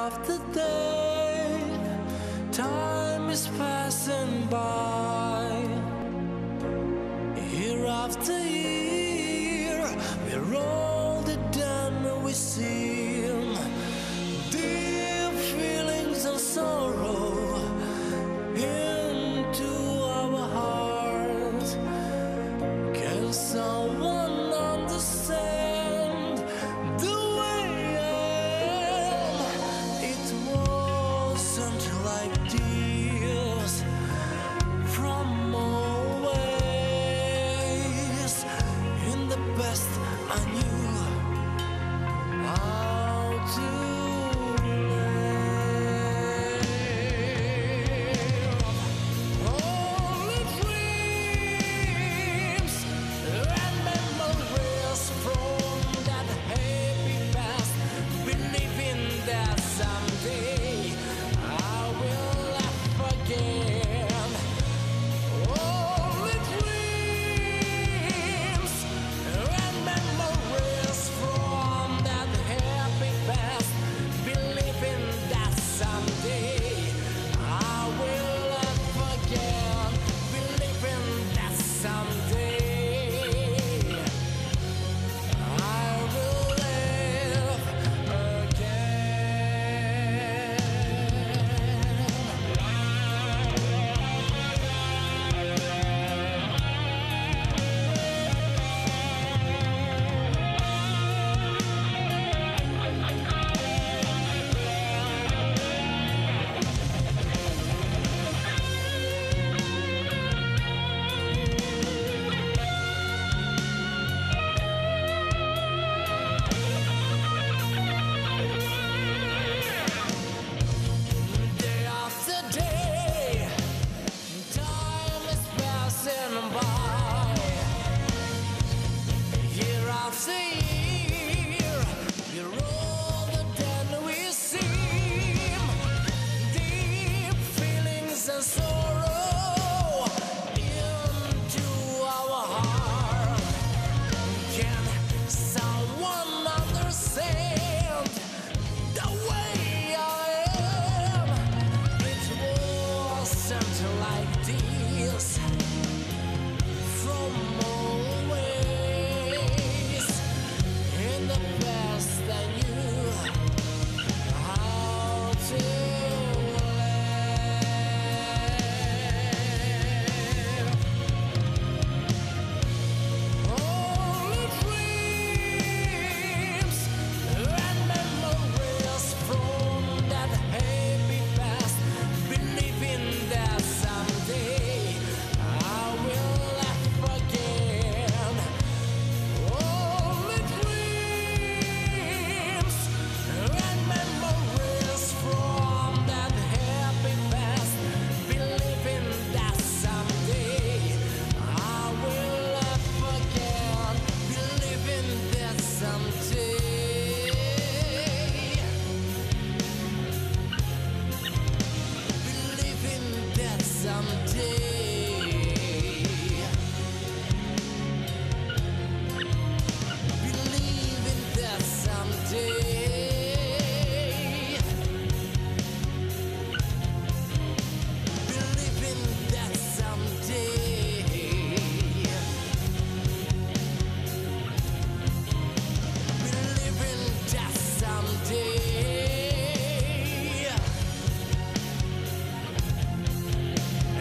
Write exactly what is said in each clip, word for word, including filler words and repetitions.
after day, time is passing by. Year after year, we're older than we seem. Deep feelings of sorrow into our hearts. Can someone understand the way I am? It wasn't like this from always. In the best I knew how to live. Only dreams and memories from that happy past, believing that someday I will laugh again. Only dreams and memories from that happy past, believing that someday I will laugh again, believing that someday I will live day after day, time is passing by. Year after year, we're older than we seem. Deep feelings and sorrow into our heart. Can someone understand the way I am? It wasn't like this from always. In the past I knew how to live. Only dreams and memories from that happy past, believing that someday I will laugh again. Only dreams and memories from that happy past, believing that someday I will laugh again, believing that someday, believing that someday, believing that someday, believing that someday, believing that someday,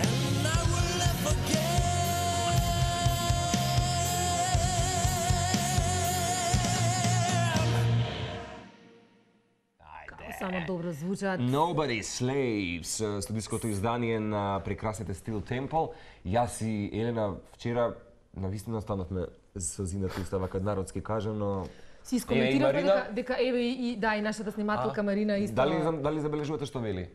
and I will laugh again. Само добро звучат. Nobody Slaves, студиското издание на прекрасните Steel Temple. Јас и Елена вчера навистина станавме со зината устава кад народски кажам, но Си искоментираме Марина? дека, дека еве и да и нашата снимателка Марина исто. дали дали забележувате што вели?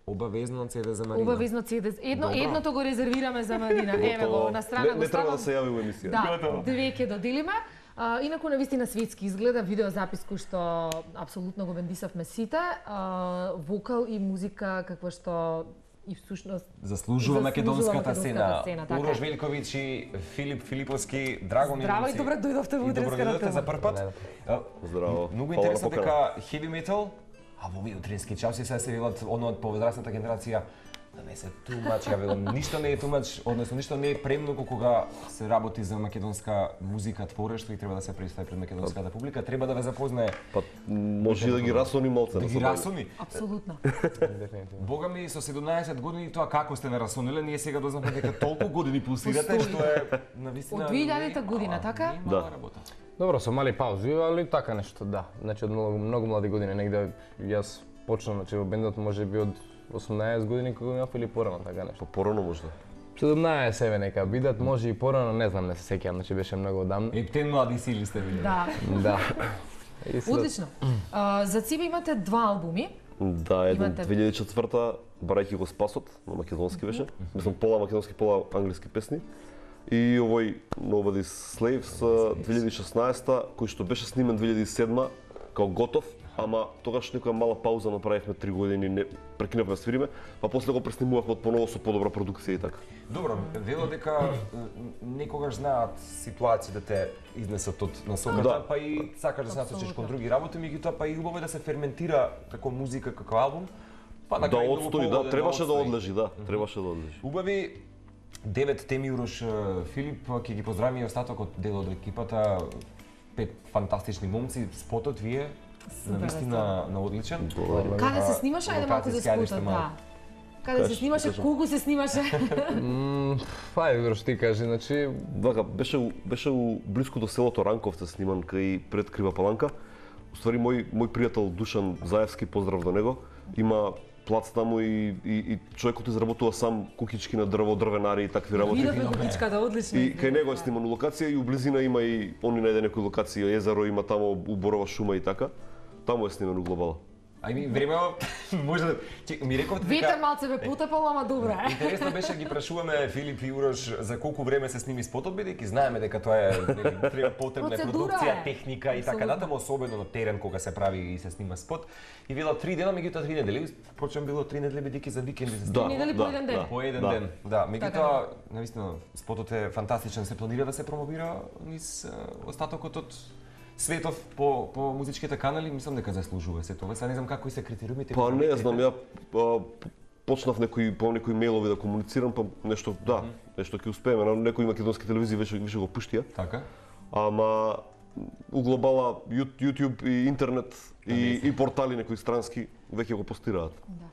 Обавезно цеде за Марина. Обавезно цеде. Едно Добро. едното го резервираме за Марина. Еве го на страна Не, го не треба ставам. да се јави во емисија. Да, две ќе доделиме. А, инаку навистина светски изгледа видеозапис кој што апсолутно го бендисавме сите. А, вокал и музика каква што и всушност Заслужува македонската сцена. сцена, така Урош е. Великовиќ и Филип Филиповски, драго ми Здраво и добре дојдовте во И добро утринската дојдовте тема. за прв пат. А, Здраво. Многу Фала интересно на дека heavy metal а во овие утрински часи сега се велат оно од повозрасната генерација да не се тумач, ја велам, ништо не е тумач, односно ништо не е премногу кога се работи за македонска музика творештво и треба да се представи пред македонската публика, треба да ве запознае. Па може и да ги расони малце. Да ги расони. Апсолутно. Бога ми со седумнаесет години тоа како сте не расониле, ние сега дознавме дека толку години пулсирате што е навистина. Од две илјадета година, така? Да. Работа. Добро, со мали паузи, али така нешто, да. Значи од многу, многу млади години, негде јас почнав, значи во бендот може би од осумнаесет години кога имав или порано, така нешто. Порано можда. седумнаесет еве нека бидат, може и порано, не знам, не се сеќавам, значи беше многу одамна. Ептен млади сили сте били. Да. Да. И след- Одлично. А, за себе имате два албуми. Да, еден Имате- две илјади и четврта, барајќи го Спасот, на македонски беше. Мислам пола македонски, пола англиски песни. И овој Nobody's Slaves две илјади и шеснаесета, кој што беше снимен две илјади и седма, као готов, ама тогаш некоја мала пауза направивме три години, не прекинавме да свириме, па после го преснимувавме од поново со подобра продукција и така. Добро, вело дека некогаш знаат ситуација да те изнесат од насоката, Да. па и сакаш да се насочиш Апсолутно. кон други работи, меѓутоа па и убаво е да се ферментира како музика, како албум. Па на Да крај одстои, многу да, погоден требаше да одстои. одлежи, да, требаше да одлежи. Убави девет теми Урош Филип, ќе ги поздравим и остатокот дел од екипата, пет фантастични момци, спотот вие Супер, навистина на одличен. Каде се снимаше? Ајде малку за локација, ајде спотот, што малку. да. Каде се Кажи, снимаше, кажи. колку се снимаше? М, Ајде, Урош, ти кажи, значи, Вака, беше, у- беше у блиску до селото Ранковце сниман кај пред Крива Паланка. Уствари мој мој пријател Душан Заевски, поздрав до него, има плац таму и, и, и човекот изработува сам кукички на дрво, дрвенари и такви работи. Видовме купичката, одлично. И кај него е сниман у локација и у близина има и они најде некои локации, езеро има таму у борова шума и така. Таму е сниман у глобала. Ај ми време може да Че, ми рековте Ветер дека малце бе потепало, ама добро е. интересно беше ги прашуваме Филип и Урош за колку време се сними спотот, бидејќи знаеме дека тоа е нели, треба потребна е Процедура продукција, е. техника и така Апсолутно. натаму, особено на терен кога се прави и се снима спот. И вела три дена, меѓутоа три недели, почнем било три недели бидејќи за викенди се снима. недели по еден ден. По еден Да. ден, да. Така Меѓутоа, навистина, спотот е фантастичен, се планира да се промовира низ е, остатокот од светов по по музичките канали, мислам дека заслужува се тоа. Сега не знам како и се критериумите. Па не знам, ја а, почнав некои по некои мејлови да комуницирам, па нешто да, нешто ќе успееме. На некои македонски телевизии више више го пуштија. Така. Ама у глобала Ю- YouTube и интернет и, и портали некои странски веќе го постираат. Да.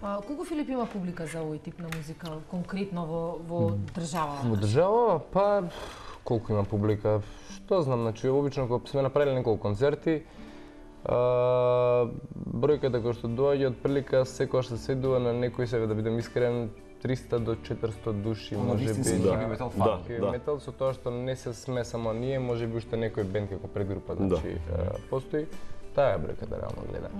А, колку Филип има публика за овој тип на музика, конкретно во, во држава? во држава, па колку има публика, што знам, значи обично кога сме направиле неколку концерти, а, бројката која што доаѓа од прилика секогаш се сведува на некој себе да бидам искрен триста до четиристо души, Оно може би. вистински да. heavy metal Да. фан. Heavy Да. метал со тоа што не се сме само ние, може би уште некој бенд како предгрупа, Да. значи а, постои. Таа е бројката реално гледа.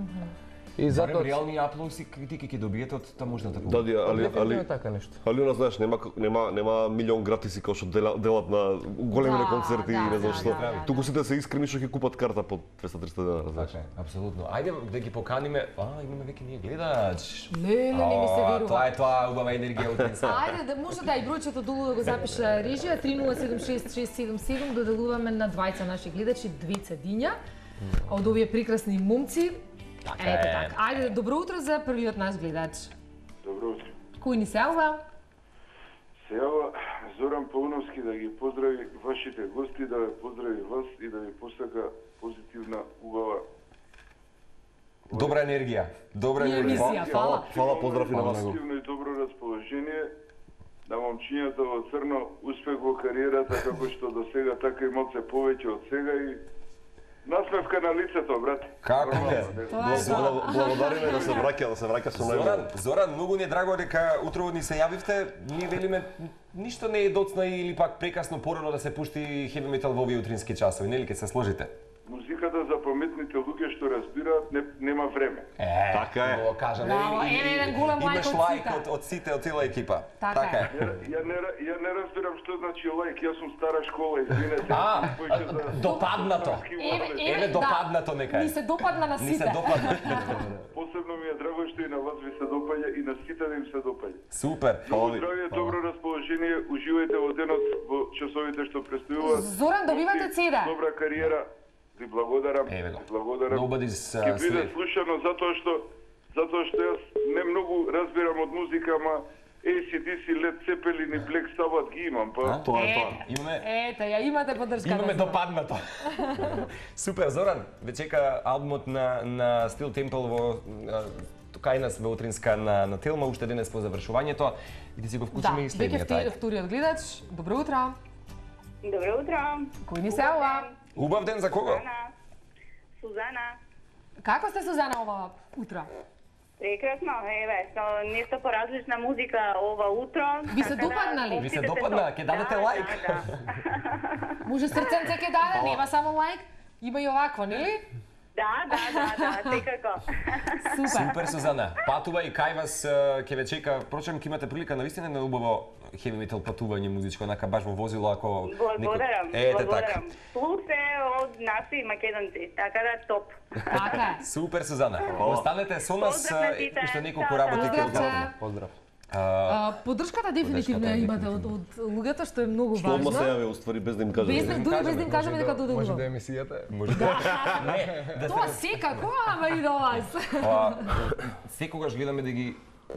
И Затоа затоа реални аплауси критики ќе добиете од таможната Да, публика. ди, али Дефинитивно али е така нешто. али она знаеш, нема нема нема милион гратиси кои што дела- делат на големи Да, концерти да, и не знам да, што. да, да, Туку сите се искрени што ќе купат карта по двеста триста денара, знаеш. Така е, апсолутно. Ајде да ги поканиме. А, имаме веќе ние гледач. Леле, не ми се А, верува. Тоа е тоа убава енергија утринска. Ајде, да може да и бројчето долу да го запише режија три нула седум шест шест седум седум, доделуваме на двајца наши гледачи две цедиња од овие прекрасни момци. Така Ето е. така. Ајде, добро утро за првиот наш гледач. Добро утро. Кој ни се јавува? Се јава Зоран Пауновски да ги поздрави вашите гости, да ве поздрави вас и да ви посака позитивна, убава. Добра енергија. Добра И енергија. емисија, фала. Фала, поздрав и на вас. Позитивно и добро расположение. На момчињата во црно успех во кариерата како што до сега, така и малце повеќе од сега и насмевка на лицето, брат. Како Нормално, е? не. Тоа е тоа. Благ- Благодариме да се враќа, да се враќа со најголемо. Зоран, Зоран, многу ни е драго дека утрово ни се јавивте. Ние велиме ништо не е доцна или пак прекасно порано да се пушти хеви метал во овие утрински часови, нели ќе се сложите? Музиката за паметните луѓе што разбираат не, нема време. Е, Така е. Го кажа, Браво, нели? е, еден голем лајк Имаш од лајк сите. од, од сите, од цела екипа. Така е. Ја, ја, не, ја не разбирам што значи лајк, јас сум стара школа, извинете. А, Повеќе за- допаднато. Еве, Еве, да. допаднато нека е. Ни се допадна на Ни сите. се допадна. Посебно ми е драго што и на вас ви се допаѓа и на сите да им се допаѓа. Супер. Многу здравје, добро расположение, уживајте во денот во часовите што престојуваат. Зоран, добивате цеда. Добра кариера. Ви благодарам. Еве го. Ви благодарам. Nobody's uh, Ќе биде slave. слушано затоа што затоа што јас не многу разбирам од музика, ама A C D C, Led Zeppelin и Black Sabbath ги имам, па. Тоа е тоа. Имаме Ете, ја имате поддршка. Имаме допаднато. Супер, Зоран, ве чека албумот на на Steel Temple во а, кај нас во утринска на на Телма уште денес по завршувањето и да си го Да, вклучиме и веќе следниот. втори- ајде. вториот гледач. Добро утро. Добро утро. Кој ни се јавува? Убав ден за кого? Сузана. Сузана. Како сте, Сузана, ова утро? Прекрасно, еве, со нешто поразлична музика ова утро. Ви се така да допадна ли? Ви се опитете допадна? тоа. Ќе дадете Да, лайк? Да, да. Може срценце ќе даде, нема само лайк. Има и овакво, нели? Да, да, да, да, секако. Супер. Супер, Сузана. Патува и кај вас а, ќе ве чека. Впрочем, ќе имате прилика навистина на убаво heavy metal патување музичко, онака баш во возило ако Благодарам, Ете благодарам. така. Плюс е од наши македонци, така да топ. Така е. Супер, Сузана. Останете со нас Поздрав на а, сите. уште неколку Чао, работи чао. ќе Поздрав, одговориме. Поздрав. А, Поддршката дефинитивно ја Поддршката имате од, од луѓето, што е многу Што одма се важно. јави уствари без да им кажеме. Без да, дури без да им кажеме дека доде Може да убаво. емисијата е. Може да. Не, да Тоа секако, ама и до вас. А, секогаш гледаме да ги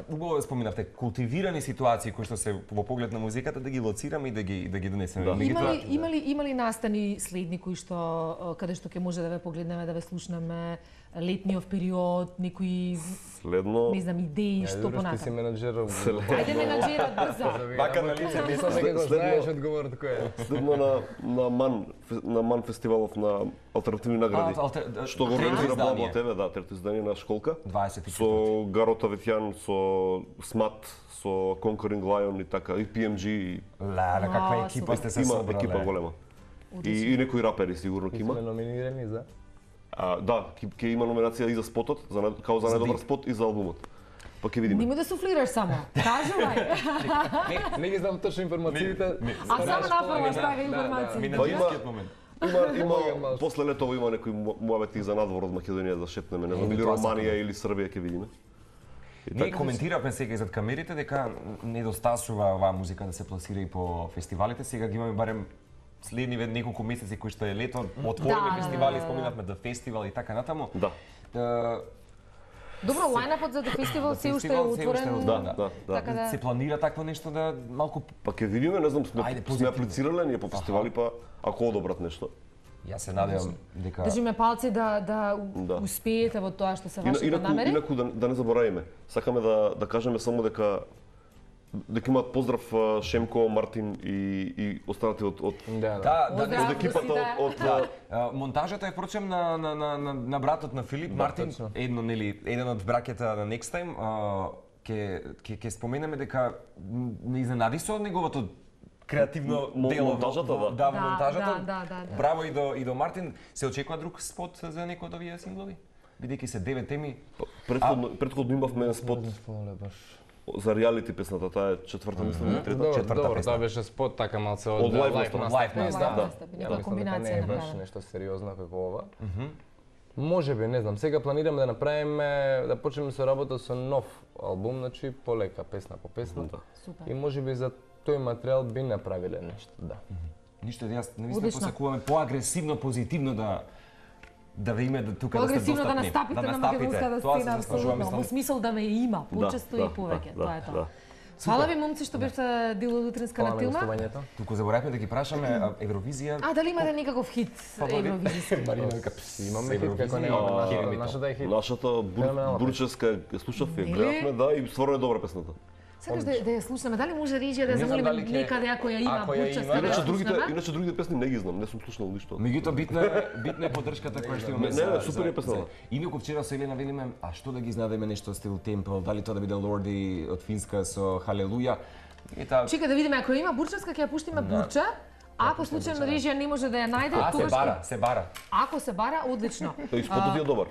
убаво да споминавте култивирани ситуации кои што се во поглед на музиката да ги лоцираме и да ги да ги донесеме. Да. Има Меѓутоа, ли, има ли, има ли настани следни кои што а, каде што ќе може да ве погледнеме, да ве слушнеме летниот период, некои Следно, не знам идеи што Добро, што си понатаму. менаџер. Ајде менаџерот брзо. Вака на лице, Мислам дека го Следно- знаеш одговорот кој е. следно на на Ман фе- на Ман фестивалов на алтернативни награди. А, алтер- да, Што го трето организира издание. Бабо ТВ, да, трето издание на школка. дваесет и Со Гарота Ветјан, со Смат, со Conquering Lion и така, и P M G, и Леле, каква А, екипа супер. сте се има собрале. екипа голема. И, и некои рапери сигурно ќе Сме има. номинирани за А, да, ќе ќе има номинација и за спотот, за нај- као за За најдобар ди- спот и за албумот. Па ќе видиме. Нема да суфлираш само. Кажувај. Не, не ги знам точно информациите. А само направо Да, стави да, информации. Ми на Па има- џинскиот момент. Има има Моја малку. после летово има некои му- муабети за надвор од Македонија да шетнеме, не знам, Е, или тоа Романија сакам. или Србија ќе видиме. И Ние така. коментиравме сега и зад камерите дека недостасува оваа музика да се пласира и по фестивалите. Сега ги имаме барем следниве неколку месеци кои што е лето, отвориме Да, фестивали, да, да. споминавме да фестивал и така натаму. Да. Е, Добро, лајнапот за The Festival се уште е фестивал се уште е отворен. отворен, Да, да, да. Така да. се планира такво нешто да малку Па ќе видиме, не знам, сме, Ајде, сме позитивно. аплицирале ние по фестивали, па ако одобрат нешто. Јас се надевам дека Држиме палци да да Да. успеете во тоа што се Ина, вашите инаку, намери. инаку да, да не заборавиме, сакаме да да кажеме само дека дека имаат поздрав а, Шемко, Мартин и и останати од од Да, да. да, да, Поздрав. не од екипата сите. од, од Да, а, монтажата е впрочем на на на на, на братот на Филип Да, Мартин, точно. едно нели еден од браќата на Next Time, а, ќе ќе ќе споменеме дека м, не изненади со неговото креативно М- дело во- монтажата, во- да. да, во Да, монтажата. да, да, да, да. Браво и до и до Мартин. Се очекува друг спот за некој од овие синглови? Бидејќи се девет теми. претходно претходно имавме еден спот Поле баш. за реалити песната, таа е четврта мислам или трета. Добро, четврта добро, песна. тоа беше спот така малце од Од лајв лајв настап. настап. Лајв Не, настап, да, да. настап, Ја некоја мислам дека комбинација не е баш направена. нешто сериозно како ова. Може би, не знам, сега планираме да направиме, да почнеме со работа со нов албум, значи полека, песна по песна. Да. Супер. И може би за тој материјал би направиле нешто, да. Ништо јас навистина Одлично. посакуваме поагресивно, позитивно да да ве име да тука да сте Поагресивно достапни. да настапите на настапите. македонската Тоа се сцена, заслужува, апсолутно. Во мислам. смисол да ме има, почесто Да, и повеќе, да, тоа е да, тоа. да. Фала ви, момци, што бевте дел од утринска Фала на на Тилма. гостувањето. Туку заборавме да ги прашаме а, Евровизија. А, дали имате некаков хит Фаворит? евровизиски? Марина вика, имаме хит како не Евровизија, нашата, Хеви метал. нашата е хит. Нашата бур, Феноменална бурческа ја слушав, ја Нели? гледавме, да, и стварно е добра песната. Сакаш да, да ја слушнеме, дали може режија да ја Не знам замолиме дали ќе- некаде ако ја има ако ја бурческа има, да Иначе ја другите, слушнеме? иначе другите песни не ги знам, не сум слушнал ништо. Меѓутоа битна е битна е поддршката која што имаме Не, за не, супер за- е песната. за- Инаку вчера со Елена велиме, а што да ги знадеме нешто стил Темпл, дали тоа да биде Лорди од Финска со Халелуја. И таа Чека да видиме, ако има бурческа, ќе ја пуштиме бурча. Ако случајно режија не може да ја најде, а се тогаш бара, се бара. ако се бара, одлично. Тој спотот е добар.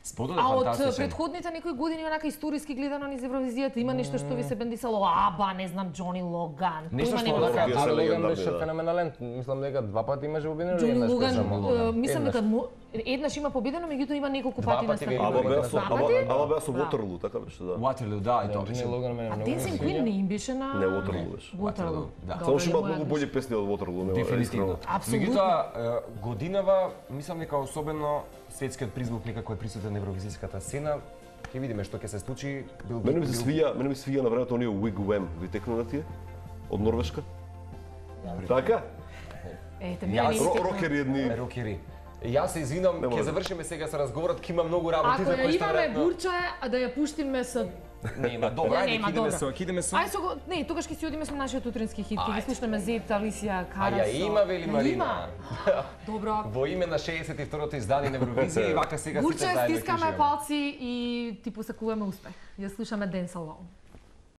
Сподот е А од фантастичен. претходните некои години онака историски гледано низ Евровизијата има нешто што ви се бендисало, аба, не знам, Џони Логан. Нешто Тој што има онака- нема. Тие се Али Логан легендарни, беше да. феноменален. Мислам дека два пати имаше победено или Џони еднаш Логан, беше? е, мислам Еднаш. дека му- еднаш има победено, меѓутоа има неколку Два пати пати на веќе Ама Има беа Два со Два ама пати? ама беа со Да. Waterloo, така беше, да. Waterloo, да, и тоа Џони беше. Логан мене А многу ми Dancing се Queen свиѓа. не им беше на... Не, Waterloo беше. Waterloo, Да. добро, Само што има моја многу грешка. бољи песни од Waterloo, нема Дефинитивно. искрено. Апсолутно. Меѓутоа, е, годинава, мислам дека особено светскиот призвук некако е присутен на евровизиската сцена. Ќе видиме што ќе се случи. Бил Мене ми се бил- свија, мене ми се свија на времето оние Wigwam, ви текну на тие? Од Норвешка? Така? Ете, Јас- мене не Ро- истекна. Рокери едни. Рокери. Јас се извинам, Не ќе може. завршиме сега со разговорот, ќе има многу работи Ако за ја кои што имаме веројатно- бурча, а да ја пуштиме со... Нема, добро, Не, ајде, нема, ќе идеме добро. со, ќе идеме со. Ај со го... Не, тогаш ќе си одиме со нашиот утрински хит, ќе ги Ајде. слушнеме Зет, Алисија, А Кара ја со... има, вели Ја Марина. Има. Добро. Во име на шеесет и второто издание на Евровизија и вака сега сите Бурче, заедно ќе стискаме уживаме. палци и ти посакуваме успех. Ја слушаме Dance Alone.